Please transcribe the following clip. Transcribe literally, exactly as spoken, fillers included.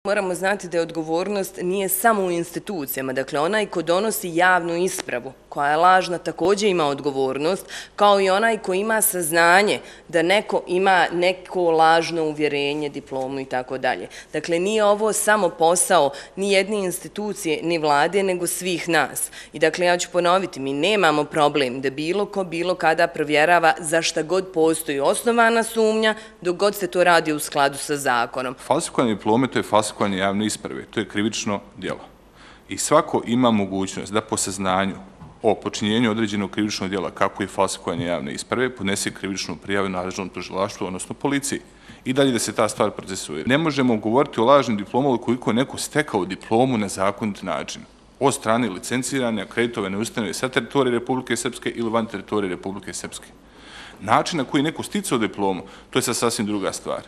Moramo znati da je odgovornost nije samo u institucijama, dakle onaj ko donosi javnu ispravu, koja je lažna, također ima odgovornost, kao i onaj ko ima saznanje da neko ima neko lažno uvjerenje, diplomu i tako dalje. Dakle, nije ovo samo posao ni jedne institucije, ni vlade, nego svih nas. I dakle, ja ću ponoviti, mi nemamo problem da bilo ko, bilo kada provjerava za šta god postoji osnovana sumnja, dok god se to radi u skladu sa zakonom. Falsifikovanje diplome, to je falsifikovanje javne isprave, to je krivično djelo. I svako ima mogućnost da po saznanju o počinjenju određenog krivičnog djela, kako je falsifikovanje javne isprave, podnese krivičnu prijavu nadležnom tužilaštvu, odnosno policiji. I dalje da se ta stvar procesuira. Ne možemo govoriti o lažnim diplomama ukoliko je neko stekao diplomu na zakonit način od strane licencirane, akreditovane ustanove sa teritorije Republike Srpske ili van teritorije Republike Srpske. Način na koji je neko sticao diplomu, to je sad sasvim druga stvar.